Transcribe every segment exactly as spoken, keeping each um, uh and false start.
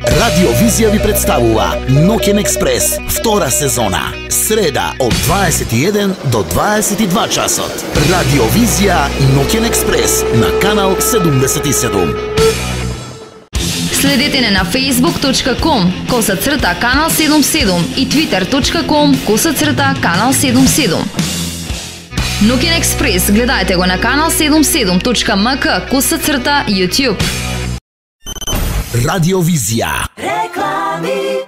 Радио Визија ви представува Ноќен експрес, втора сезона. Среда од дваесет и еден до дваесет и два часот. Радио Визија Ноќен експрес на канал седумдесет и седум. Следете не на facebook точка com коса црта канал седумдесет и седум и twitter точка com коса црта канал седумдесет и седум. Ноќен експрес гледајте го на канал седумдесет и седум точка ем ка коса црта YouTube. Радио Визија. Реклами.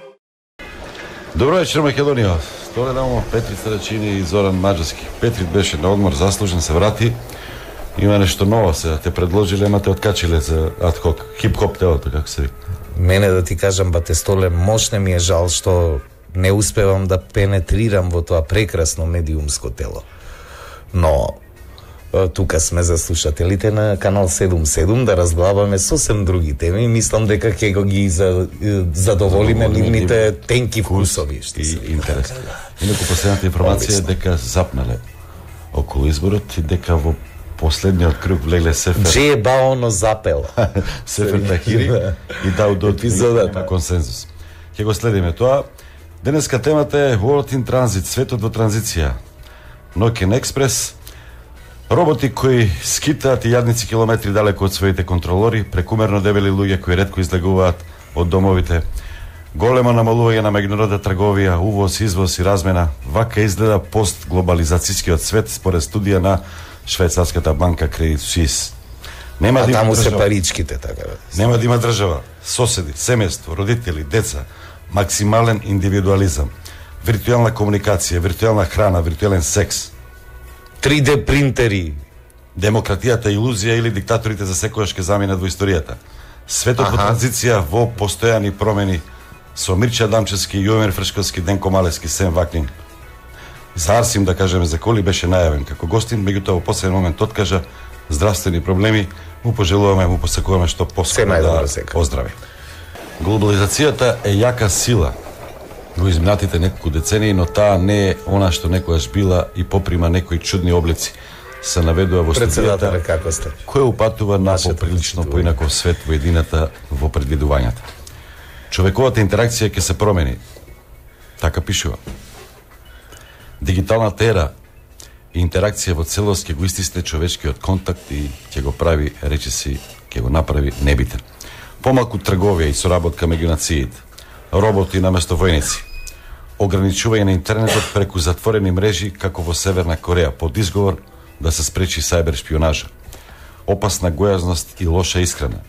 Добро вечер, Македонија. Столе намо Петрит Сарачини и Зоран Маджарски. Петрит беше на одмор, заслужен, се врати. Има нешто ново се, те предложиле, ама те откачиле за адхок, хип-хоп телото, како се вика. Мене да ти кажам, бате Столе, мощне ми е жал што не успевам да пенетрирам во тоа прекрасно медиумско тело. Но тука сме за слушателите на канал седумдесет и седум да разглабаме сосем други теми. Мислам дека ќе го ги за, задоволиме нивните тенки вкусови. И интерес. Инаку последната информација е дека запнале околу изборот и дека во последниот круг влегле Сефер. Дже баоно запел. Сефер Тахири и Даудот епизодата на консензус. Ќе го следиме тоа. Денеска темата е World in Transit, светот во транзиција. Ноќен експрес. Роботи кои скитаат и јадници километри далеко од своите контролори, прекумерно дебели луѓе кои ретко излегуваат од домовите, големо намалување на меѓународна трговија, увоз, извоз и размена. Вака изгледа постглобализацијскиот свет според студија на швајцарската банка Credit Suisse. Нема а да таму држава, се паричките, така бе. Нема да има држава, соседи, семејство, родители, деца, максимален индивидуализам, виртуелна комуникација, виртуелна храна, виртуелен секс, три де принтери, демократијата илузија или диктаторите за секојаш ќе заминат во историјата. Светот во транзиција, во постојани промени, со Мирча Дамчевски, Јовер Фршковски, Денко Малевски, Сем Ваклин. За Арсим, да кажеме, за коли беше најавен како гостин, меѓутоа во последен момент откажа здравствени проблеми, му пожелуваме, му посакуваме што поскоро да оздрави. Глобализацијата е јака сила во изминатите неколку децении, но таа не е она што некогаш била и поприма некои чудни облици. Се наведува во студијата, како сте? Кој упатува на поприлично поинаков свет во едината во предвидувањата. Човековата интеракција ќе се промени. Така пишува. Дигиталната ера и интеракција во целост ќе го истисне човечкиот контакт и ќе го прави, речиси, ќе го направи небитен. Помалку трговија и соработка меѓу нациите. Роботи наместо војници. Ограничување на интернетот преку затворени мрежи како во Северна Кореја под изговор да се спречи сајбер шпионажа. Опасна гојазност и лоша исхрана.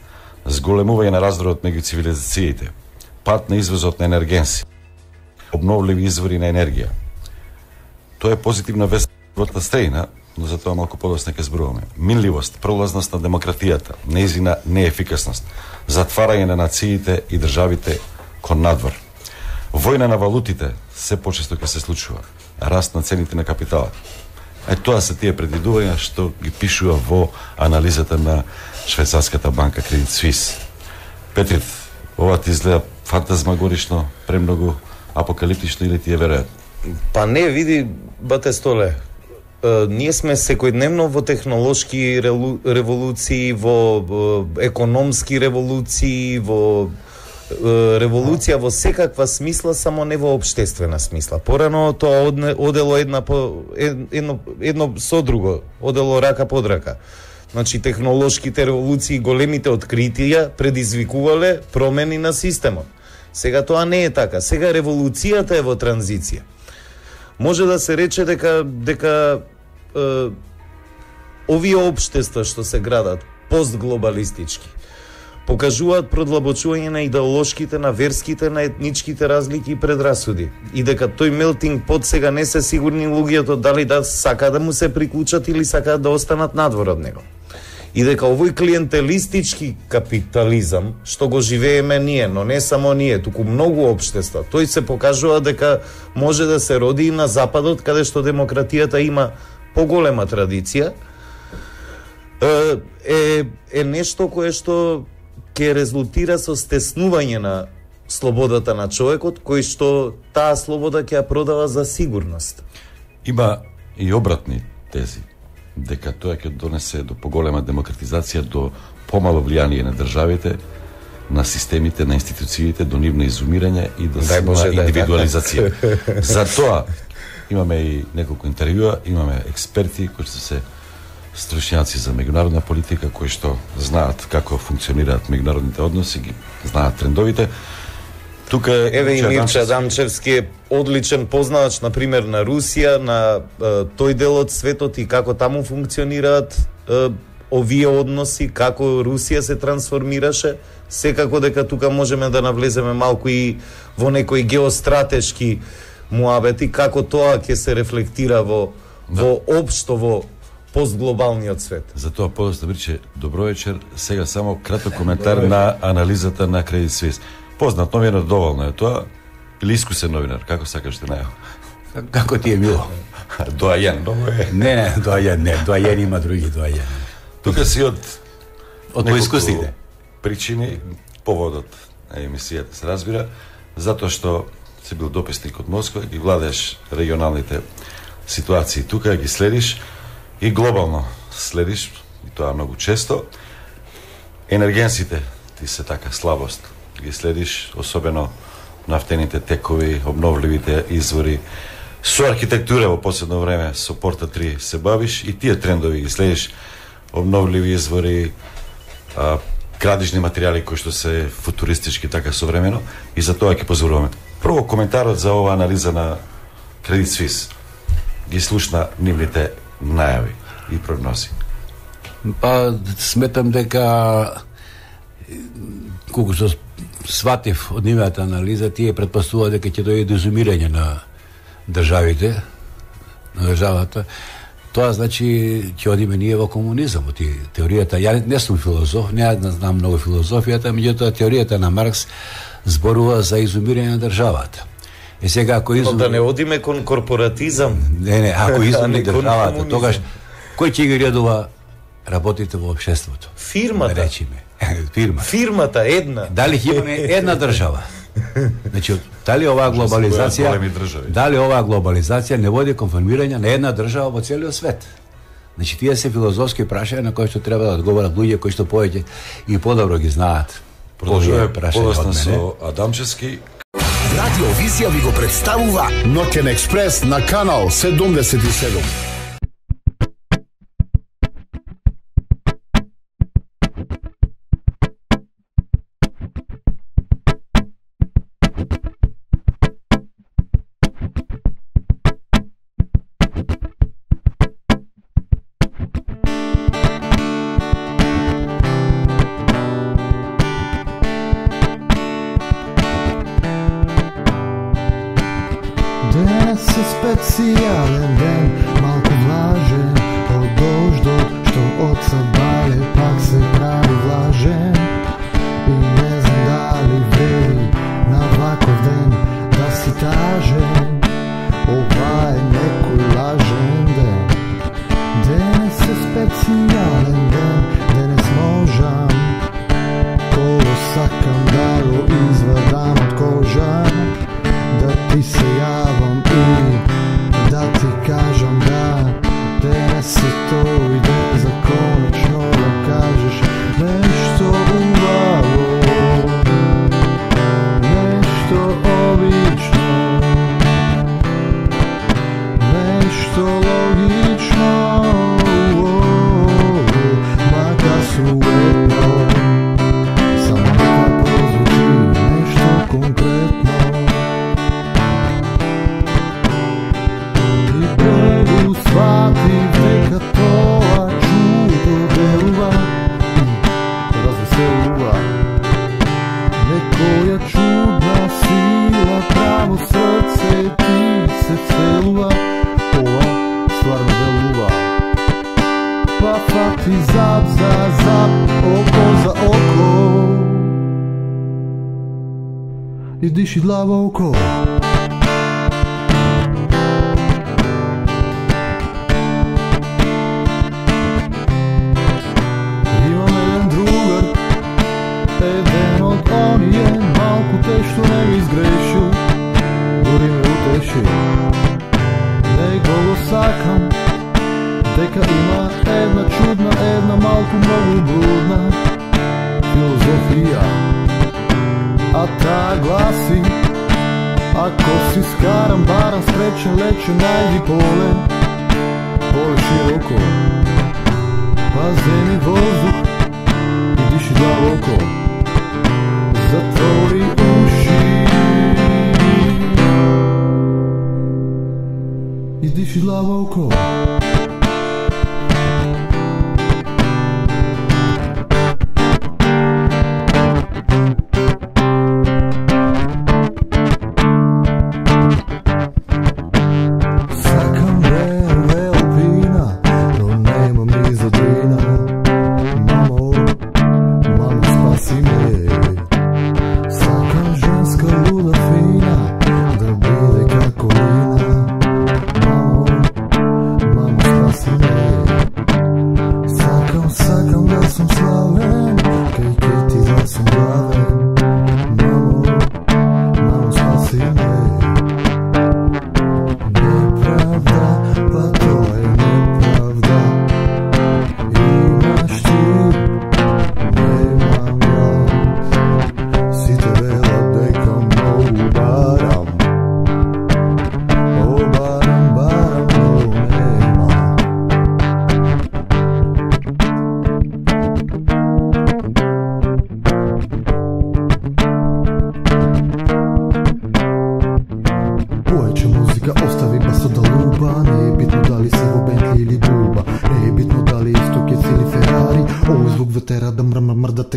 Зголемување на раздорот меѓу цивилизациите. Пат на извозот на енергенси. Обновливи извори на енергија. Тоа е позитивна вест во стејна, но за тоа малку подоцна ќе зборуваме. Минливост, пролазност на демократијата, нејзина неефикасност, затварање на нациите и државите кон надвор. Војна на валутите се почесто ќе се случува. Раст на цените на капиталот. Е тоа се тие предвидувања што ги пишува во анализата на швајцарската банка Credit Suisse. Петрит, ова ти изгледа фантазмагорично, премногу апокалиптично или ти е веројатно? Па не, види, бате Столе, Uh, ние сме секојдневно во технолошки релу, револуции, во uh, економски револуции, во uh, револуција во секаква смисла, само не во општествена смисла. Порано тоа одне, одело една по, едно, едно со друго, одело рака под рака. Значи, технолошките револуции, големите откритија предизвикувале промени на системот. Сега тоа не е така. Сега револуцијата е во транзиција. Може да се рече дека дека е, овие општества што се градат постглобалистички покажуваат продлабочување на идеолошките, на верските, на етничките разлики и предрасуди. И дека тој мелтинг под сега не се сигурни луѓето дали да сака да му се приклучат или сакаат да останат надвор од него. И дека овој клиентелистички капитализам што го живееме ние, но не само ние, туку многу општества, тој се покажува дека може да се роди и на западот, каде што демократијата има поголема традиција, е, е нешто кое што ќе резултира со стеснување на слободата на човекот, кој што таа слобода ќе ја продава за сигурност. Има и обратни тези, дека тоа ќе донесе до поголема демократизација, до помало влијание на државите, на системите, на институциите, до нивно изумирање и до Дај Боже, силна да е индивидуализација. Затоа имаме и неколку интервјуа, имаме експерти кои што се стручњаци за меѓународна политика, кои што знаат како функционираат меѓународните односи, ги знаат трендовите. Тука е Еве и Мирча Адамчевски е одличен познавач, на пример, на Русија, на е, тој дел од светот и како таму функционираат е, овие односи, како Русија се трансформираше. Секако дека тука можеме да навлеземе малку и во некои геостратешки муабети, како тоа ќе се рефлектира во, Да. во општо во постглобалниот свет. Затоа подоста Мирче, добро вечер. Сега само краток коментар на анализата на Credit Suisse. Познат новинар, доволно е тоа. Или искусен новинар, како сакаш да најава? Како ти е мило? Доајен, много е. Не, не, доајен, не, доајен има други доајен. Тука си од Од неколку поискусните. причини, поводот на емисијата се разбира, затоа што си бил дописник од Москва, ги владееш регионалните ситуации тука, ги следиш и глобално следиш, и тоа многу често. Енергенсите ти се така слабост, ги следиш, особено нафтените текови, обновливите извори, со архитектура во последно време, со Порта три се бавиш и тие трендови ги следиш, обновливи извори, а, градижни материјали кои што се футуристички така современо, и за тоа ќе позоруваме. Прво коментарот за ова анализа на Credit Suisse. Ги слушна нивните најави и прогнози. Па сметам дека колку што сватив од нивната анализа, тие претпоставува дека ќе дојде до изумирање на државите, на државата. Тоа значи ќе одиме ние во комунизам, во теоријата. Ја не сум филозоф, не знам многу филозофијата, меѓутоа теоријата на Маркс зборува за изумирање на државата. Е сега ако изум... Но да не одиме кон корпоратизам. Не, не, ако изуми не кон државата, комунизам. тогаш кој ќе ги редува работите во општеството? Фирмата. Да речеме. Фирма. Фирмата една. Дали ќе имаме една држава? Значи, дали оваа глобализација, големи држави. дали оваа глобализација не води кон формирање на една држава во целиот свет? Значи, тие се филозофски прашања на кои што треба да одговорат луѓе кои што повеќе и подобро ги знаат. Продолжуваме Овие прашања подоцна од мене. со Адамчевски. Радио Визија ви го представува Ноќен експрес на канал седумдесет и седум. Денес е специјален ден, малку влажен од дождот што од сабале пак се прави влажен. И не знам дали вреди на ваков ден да си тажен. Ова е некој лажен ден. Денес е специјален ден, денес можам коло сакам да го извадам од кожа, да ти се јавам и да ти кажам да денес е тој ден за конечно да кажеш нешто убаво, нешто обично, нешто логично, макар суетно, само нека прозвучи нешто конкретно. Сватив дека тоа чудо делува и развеселува. Некоја чудна сила право срце ти се целува. Ова стварно делува. Па фати зап за зап, око за око и диши длаво око. Што не ми изгрешил, дори ме утеши. Него го сакам, дека има една чудна, една малку многу блудна филозофија. a ta glasi: ako si skaran, baran, sprečen, lečen, najdi pole, pole široko, pa zemi vozduh i diši dlavoko, zatvori uši i diši dlavoko.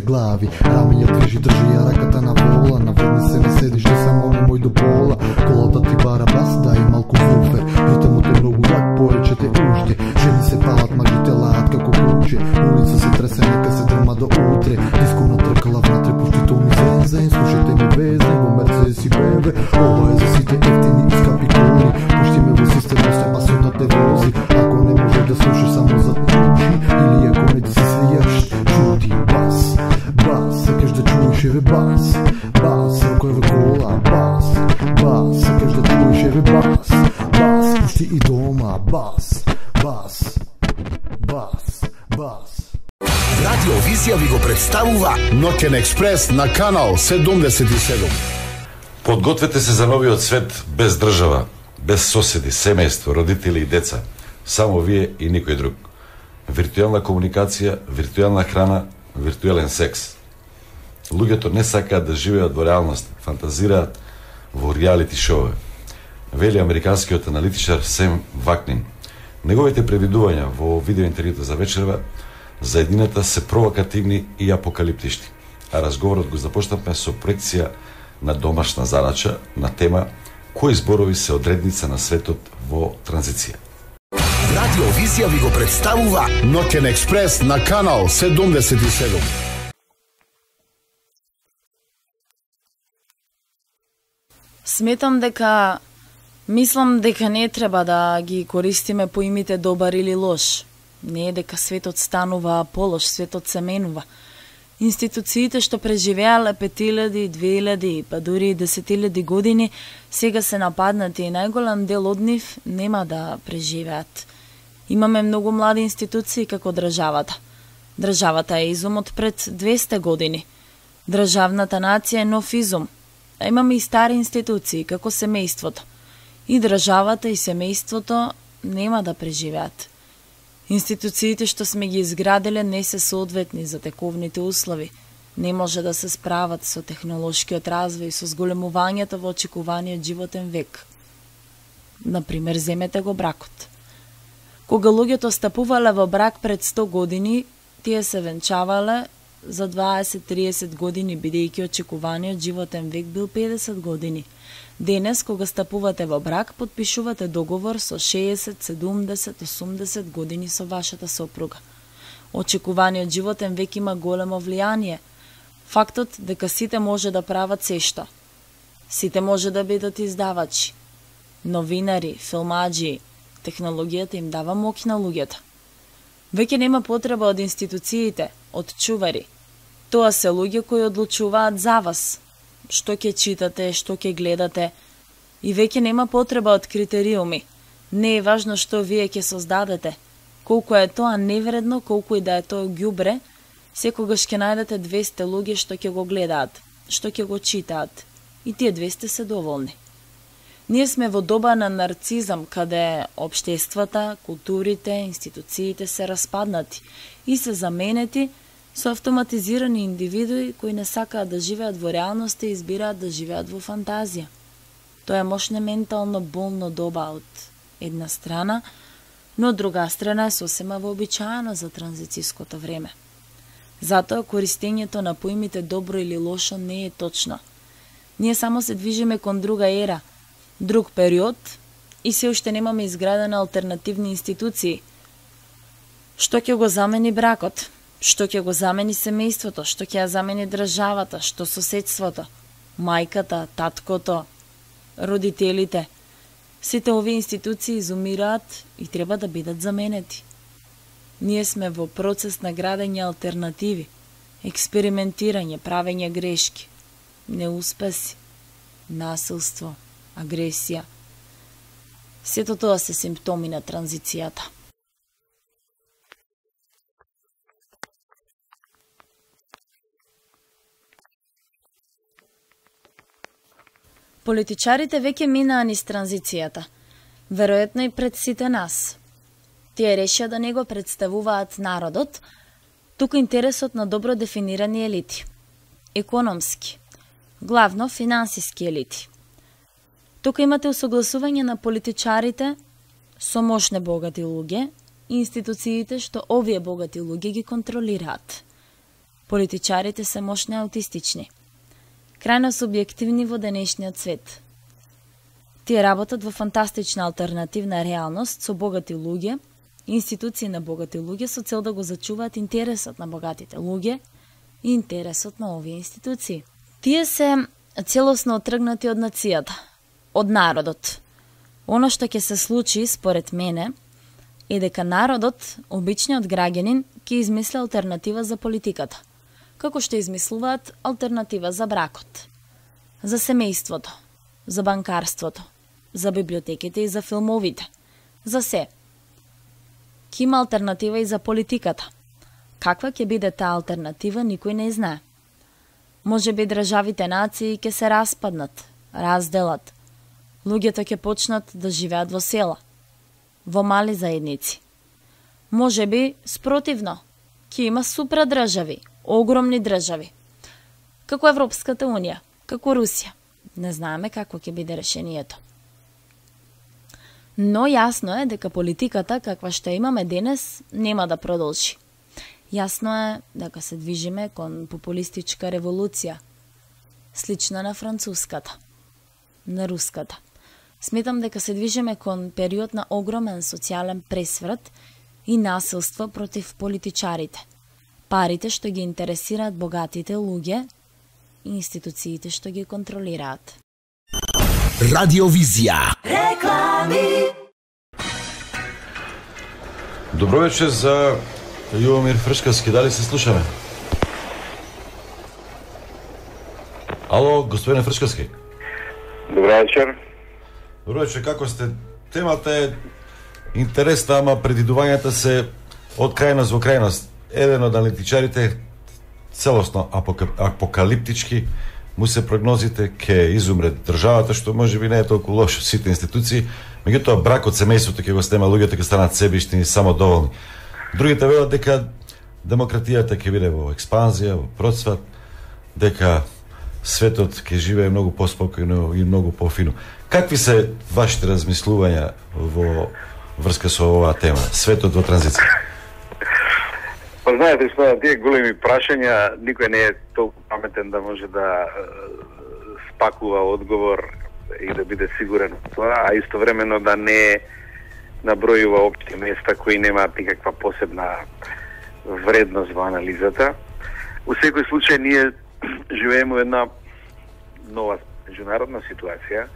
Glavi, ramenja движи, држи ја раката на вола, наведни се не седиш, да само немој до пола, колата ти бара бас, да и малку вуфер, ритамот е многу јак, поечете уште, жени се палат, мажите лаат како куче, улица се тресе, нека се дрма до утре, диско натркала внатре, пушти то ми зензен, слушайте ми везен, во Мерцедес и Б М В, ова е за сите ефтини и скапи коли, пушти ме во система, се пасот да те вози, ако не може да слушаш само за уши, или ако не да се свијаш, чути бас. Бас, сакаш да чуеш еве бас, бас, ако еве кола, бас, бас, сакаш да чуеш еве бас, бас, пушти и дома, бас, бас, бас, бас. Радио Визија ви го представува Ноќен експрес на канал седумдесет и седум. Подгответе се за новиот свет без држава, без соседи, семејство, родители и деца. Само вие и никој друг. Виртуелна комуникација, виртуелна храна, виртуелен секс. Луѓето не сакаат да живеат во реалност, фантазираат во реалити шоуе. Вели американскиот аналитичар Сем Вакнин. Неговите предвидувања во видеоинтервјуто за вечерва за едината се провокативни и апокалиптични. А разговорот го започнавме со проекција на домашна задача на тема кои зборови се одредница на светот во транзиција. Радио Визија ви го представува Ноќен експрес на канал седумдесет и седум. Сметам дека, мислам дека не треба да ги користиме поимите добар или лош. Не е дека светот станува полош, светот се менува. Институциите што преживеале пет илјади, две илјади, па дури и десет илјади години, сега се нападнати и најголем дел од нив нема да преживеат. Имаме многу млади институции како државата. Државата е изум од пред двесте години. Државната нација е нов изум. А имаме и стари институции, како семејството. И државата и семејството нема да преживеат. Институциите што сме ги изградиле не се соодветни за тековните услови. Не може да се справат со технолошкиот развој и со зголемувањето во очекуваниот животен век. Например, земете го бракот. Кога луѓето стапувале во брак пред сто години, тие се венчавале за дваесет-триесет години, бидејќи очекуваниот животен век бил педесет години. Денес, кога стапувате во брак, подпишувате договор со шеесет, седумдесет, осумдесет години со вашата сопруга. Очекуваниот животен век има големо влијание. Фактот дека сите може да прават сешто. Сите може да бидат издавачи, новинари, филмаџи. Технологијата им дава моќ на луѓето. Веќе нема потреба од институциите, од чувари. Тоа се луѓе кои одлучуваат за вас. Што ќе читате, што ќе гледате. И веќе нема потреба од критериуми. Не е важно што вие ќе создадете. Колку е тоа невредно, колку и да е тоа ѓубре, секогаш ќе најдете двесте луѓе што ќе го гледаат. што ќе го читаат, и тие двесте се доволни. Ние сме во доба на нарцизам, каде општествата, културите, институциите се распаднати и се заменети со автоматизирани индивидуи кои не сакаат да живеат во реалноста и избираат да живеат во фантазија. Тоа е мощно ментално болно доба од една страна, но од друга страна е сосема вообичаено за транзицијското време. Затоа користењето на поимите добро или лошо не е точно. Ние само се движиме кон друга ера, друг период и се уште немаме изградени алтернативни институции. Што ќе го замени бракот? Што ќе го замени семејството? Што ќе ја замени државата? Што соседството? Мајката, таткото, родителите? Сите овие институции изумираат и треба да бидат заменети. Ние сме во процес на градење алтернативи, експериментирање, правење грешки, неуспеси, насилство, агресија. Сето тоа се симптоми на транзицијата. Политичарите веќе минаа низ транзицијата, веројатно и пред сите нас. Тие решија да не го представуваат народот, туку интересот на добро дефинирани елити. Економски, главно финансиски елити. Тука имате усогласување на политичарите со мощни богати луѓе и институциите што овие богати луѓе ги контролираат. Политичарите се мощни аутистични, крајно субјективни во денешниот свет. Тие работат во фантастична алтернативна реалност со богати луѓе, институции на богати луѓе со цел да го зачуваат интересот на богатите луѓе и интересот на овие институции. Тие се целосно отргнати од нацијата, од народот. Оно што ќе се случи, според мене, е дека народот, обичниот граѓанин, ќе измисли алтернатива за политиката, како што измислуваат алтернатива за бракот, за семејството, за банкарството, за библиотеките и за филмовите, за се. Ќе има алтернатива и за политиката. Каква ќе биде таа алтернатива, никој не знае. Може би државите нации ќе се распаднат, разделат. Луѓето ќе почнат да живеат во села, во мали заедници. Може би, спротивно, ќе има супрадржави, огромни држави, како Европската унија, како Русија. Не знаеме какво ќе биде решението. Но јасно е дека политиката, каква што имаме денес, нема да продолжи. Јасно е дека се движиме кон популистичка револуција, слична на француската, на руската. Сметам дека се движиме кон период на огромен социјален пресврат и насилство против политичарите, парите што ги интересираат богатите луѓе и институциите што ги контролираат. Радиовизија. Реклами. Добро вечер за Јувомир Фршкавски, дали се слушаме? Ало, господине Фршкавски. Добро вечер. Добро вечер, како сте? Темата е интересна, ама предидувањата се од крајност во крајност. Еден од аналитичарите целосно апокалиптички му се прогнозите ке изумре државата, што може би не е толку лошо, сите институции, меѓутоа бракот, семејството ќе го снема, луѓето ќе станат себишни и самодоволни. Другите велат дека демократијата ќе биде во експанзија, во процват, дека светот ќе живее многу поспокојно и многу пофино. Какви се вашите размислувања во врска со оваа тема, светот во транзиција? Па знаете што, на тие големи прашања никој не е толку паметен да може да спакува одговор и да биде сигурен во тоа, а истовремено да не набројува општи места кои немаат никаква посебна вредност во анализата. Во секој случај ние живееме во една нова меѓународна ситуација,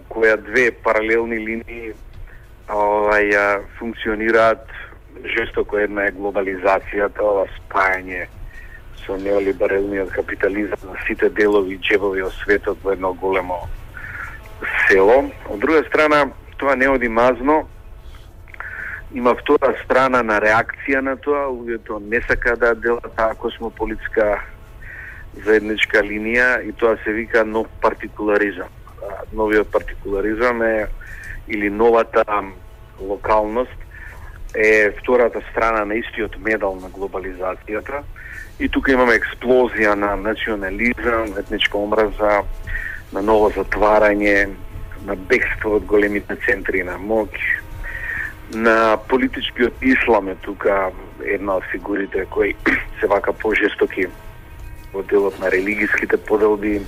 која две паралелни линии овај функционираат жестоко. Една е глобализацијата, ова спајање со неолибералниот капитализам на сите делови и џебови од светот во едно големо село. Од друга страна, тоа не оди мазно. Има втора страна на реакција на тоа, луѓето не сака да делат таа космополитска заедничка линија и тоа се вика нов партикуларизам. Новиот партикуларизам е или новата локалност е втората страна на истиот медал на глобализацијата и тука имаме експлозија на национализам, етничка омраза, на ново затварање, на бегство од големите центри на моќ, на политичкиот ислам е тука една од фигурите кои се вака пожестоки во делот на религиските поделби.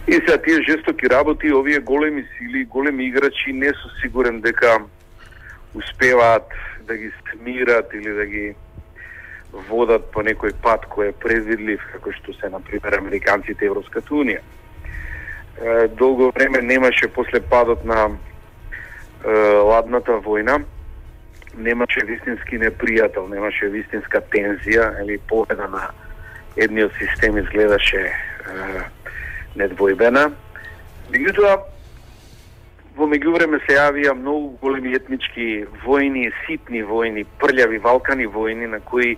И сега тие жестоки работи, овие големи сили, големи играчи, не су сигурен дека успеваат да ги смират или да ги водат по некој пат кој е предвидлив, како што се, например, американците и Европската унија. Долго време немаше, после падот на ладната војна, немаше вистински непријател, немаше вистинска тензија, или победа на едниот систем изгледаше недвојбена. Меѓутоа, во меѓувреме се јавија многу големи етнички војни, ситни војни, прљави, валкани војни, на кои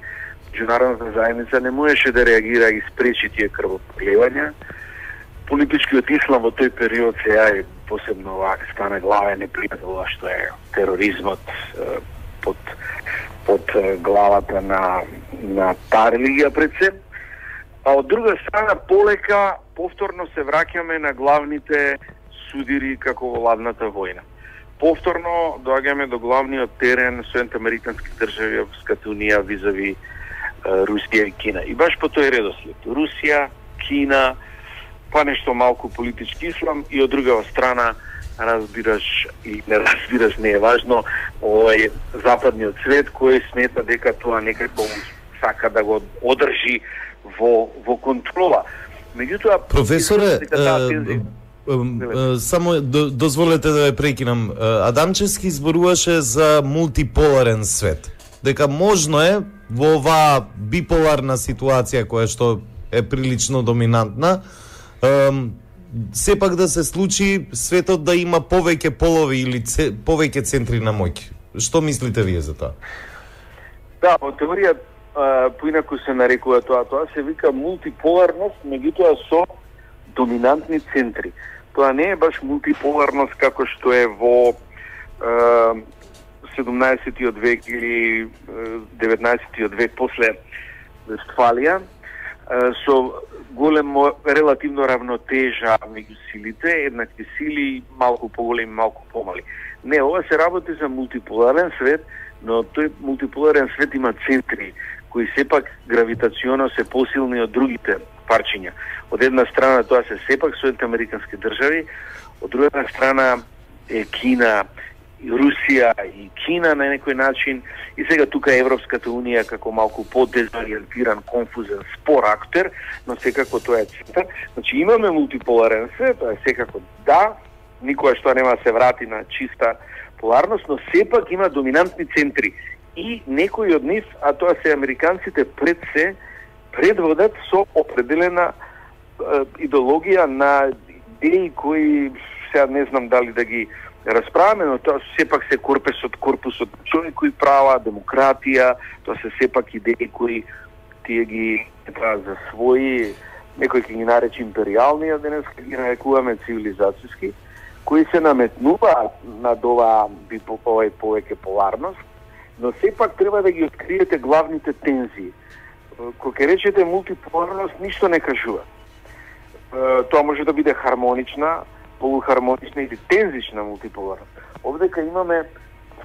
меѓународната заедница не можеше да реагира и спречи тие крвопроливања. Политичкиот ислам во тој период се јави посебно вака стана главен непријател, што е тероризмот под под главата на на таа религија пред се. А од друга страна, полека, повторно се враќаме на главните судири како во ладната војна. Повторно доаѓаме до главниот терен Соединените американски држави, Европската унија визави Русија и Кина. И баш по тој редослед. Русија, Кина, па нешто малку политички ислам и од друга страна разбираш и не разбираш, не е важно, овој западниот свет кој смета дека тоа некако сака да го одржи во во контрола. Меѓутоа, професоре, е, е, само дозволете да ве прекинам. Адамчевски зборуваше за мултиполарен свет. Дека можно е во оваа биполарна ситуација која што е прилично доминантна, сепак да се случи светот да има повеќе полови или це, повеќе центри на моќ. Што мислите вие за тоа? Да, во теорија поинаку се нарекува тоа, тоа се вика мултиполарност, меѓутоа со доминантни центри. Тоа не е баш мултиполарност како што е во е, седумнаесеттиот век или деветнаесеттиот век после Вестфалија, со големо релативно равнотежа меѓу силите, еднакви сили, малку поголеми, малку помали. Не, ова се работи за мултиполарен свет, но тој мултиполарен свет има центри кои сепак гравитационо се посилни од другите парчиња. Од една страна тоа се сепак Соединените американски држави, од друга страна е Кина, Русија и Кина на некој начин, и сега тука е Европската унија како малку подезориентиран, конфузен, спор актер, но секако тоа е центар. Значи имаме мултиполарен свет, тоа е секако да, никоја што нема се врати на чиста поларност, но сепак има доминантни центри. И некои од нив, а тоа се американците пред се, предводат со определена е, идеологија на идеи кои сега не знам дали да ги расправаме, но тоа сепак се корпусот, корпусот човекови права, демократија, тоа се сепак идеи кои тие ги прават за своји, некои ќе ги наречи империални, а денес ги нарекуваме цивилизацијски, кои се наметнуваат над ова овој повеќе поларност, но сепак треба да ги откриете главните тензии. Кога ќе речете мултиполарност, ништо не кажува. Тоа може да биде хармонична, полухармонична или тензична мултиполарност. Овдека имаме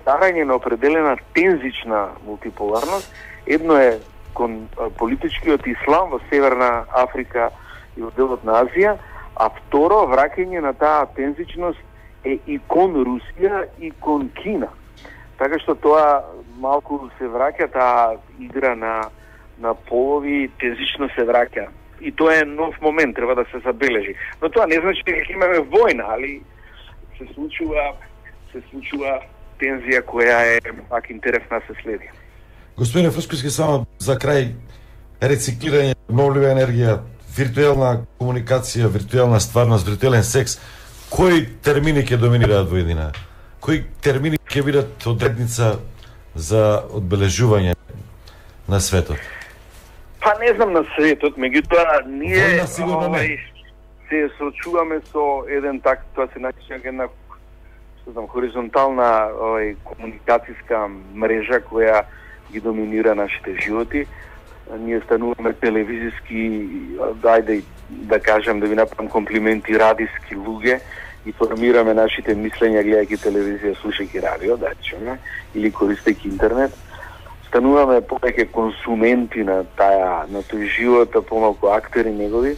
старање на определена тензична мултиполарност. Едно е кон политичкиот ислам во Северна Африка и во делот на Азија, а второ, враќање на таа тензичност е и кон Русија и кон Кина. Така што тоа малку се враќа таа игра на на полови, тензично се враќа. И тоа е нов момент, треба да се забележи. Но тоа не значи дека имаме војна, али се случува се случува тензија која е пак интересна се следи. Господине Фршковски, само за крај, рециклирање, обновлива енергија, виртуелна комуникација, виртуелна стварност, виртуелен секс, кои термини ќе доминираат во едина? Кои термини ќе бидат одредница за одбележување на светот? Па, Па не знам на светот, меѓутоа ние Војна сигурно не. овај, се сочуваме со еден так, тоа се нарече една што знам, хоризонтална овај, комуникацијска мрежа која ги доминира нашите животи. Ние стануваме телевизиски, дајде да кажам, да ви направам комплименти, радиски луѓе и формираме нашите мислења гледајќи телевизија, слушајќи радио, да речеме, или користејќи интернет. Стануваме повеќе консументи на таа, на тој живот, помалку актери негови.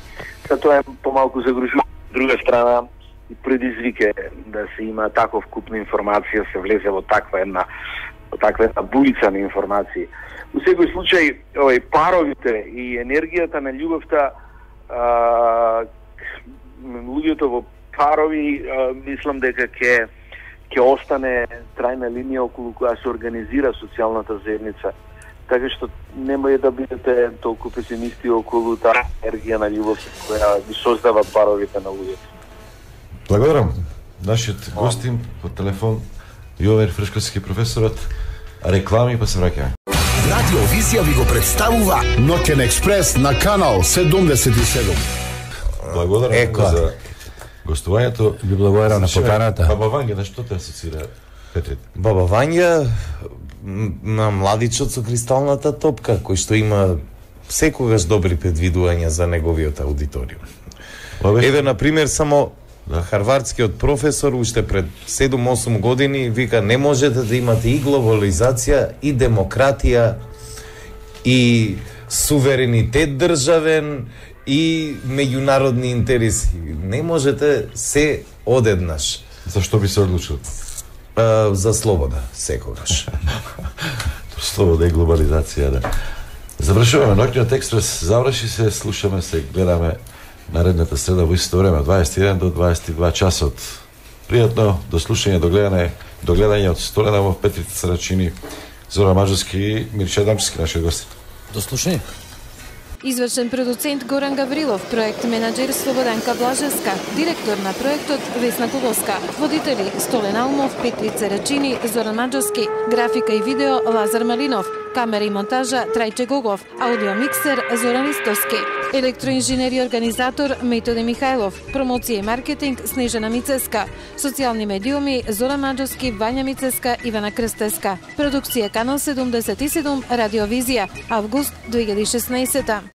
Та тоа е помалку загружување. Друга страна, и предизвике да се има таков куп на информација, се влезе во таква една во таква една бујица на информации. У секој случај, овој паровите и енергијата на љубовта, а, луѓето во парови, а, мислам дека ќе ќе остане трајна линија околу која се организира социјалната заедница. Така што немој да бидете толку песимисти околу таа енергија на љубов која ги создава паровите на луѓето. Благодарам. Нашиот гостин по телефон Јовер Фрешковски, професорот. Реклами па се враќаме. Радио Визија ви го представува Ноќен експрес на канал седумдесет и седум. Благодарам Еко. за гостувањето. Ви благодарам на поканата. Баба Ванга, на што те асоцира Петрит? Баба Вања м, на младичот со кристалната топка, кој што има секогаш добри предвидувања за неговиот аудиториум. Ова Еве, на пример, само Да. харвардскиот професор уште пред седум-осум години вика не можете да имате и глобализација, и демократија, и суверенитет државен, и меѓународни интереси. Не можете се одеднаш. Зашто би се одлучил? А, за слобода, секогаш. Слобода и глобализација, да. Завршуваме Ноќниот експрес, заврши се, слушаме се, гледаме наредната среда во исто време, дваесет и еден до дваесет и два часот. Пријатно, до слушање, до гледање, до гледање од Столеново, Петрица Сарачини, Зора Маđarски и Мирча Дамчевски, нашиот гост. До слушање. Извршен продуцент Горан Гаврилов, проект менаџер Слободанка Блажевска, директор на проектот Весна Колоска, водители Столен Алмов, Петрица Рачини, Зоран Маđarски, графика и видео Лазар Малинов, камера и монтажа Трајче Гогов, аудиомиксер Зоран Истовски, електроинженер и организатор Методе Михајлов, промоција и маркетинг Снежана Мицеска, социјални медиуми Зоран Маđarski, Вања Мицеска, Ивана Крстеска, продукција Канал седумдесет и седум, Радио Визија, август две илјади и шеснаесета.